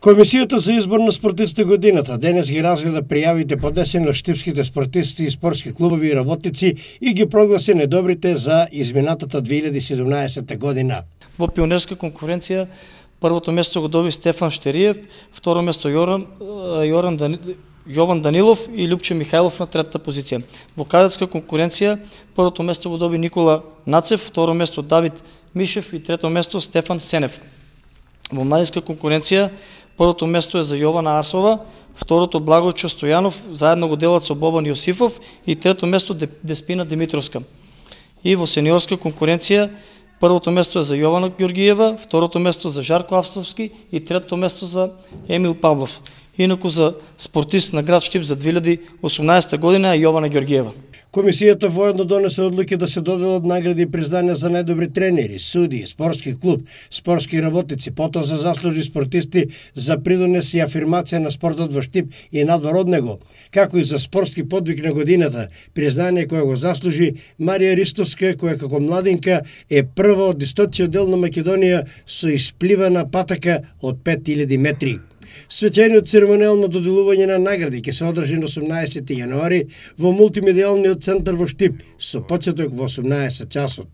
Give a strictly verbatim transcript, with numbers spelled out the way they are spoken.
Комисијата за избор на спортисти годината денес ги разгледа пријавите поднесени од штипските спортисти и спортски клубови и работници и ги прогласи недобрите за изминатата две илјади и седумнаесета година. Во пионерска конкуренција првото место го доби Стефан Штериев, второ место Јоран, Јоран Дани, Јован Данилов и Лјупче Михајлов на третата позиција. Во кадетска конкуренција првото место го доби Никола Нацев, второ место Давид Мишев и трето место Стефан Сенев. Во младинска конкуренција првото место е за Јована Арсова, второто Благојчо Стојанов, заедно го делат со Бобан Јосифов и трето место Деспина Димитровска. И во сениорска конкуренција првото место е за Јована Ѓоргиева, второто место за Жарко Австовски и третото место за Емил Павлов. Инаку за спортист на град Штип за две илјади и осумнаесета година е Јована Ѓоргиева. Комисијата воедно донесе одлуки да се доделат награди и признания за најдобри тренери, суди, спортски клуб, спортски работници, потоа за заслужи спортисти за придонес и афирмација на спортот во Штип и надвор од него, како и за спортски подвиг на годината, признание кое го заслужи Марија Ристовска, која како младинка е прва од источниот дел на Македонија со испливана патака од пет илјади метри. Свечениот церемонијално доделување на награди ќе се одржи на осумнаесети јануари во мултимедијалниот центар во Штип со почеток во осумнаесет часот.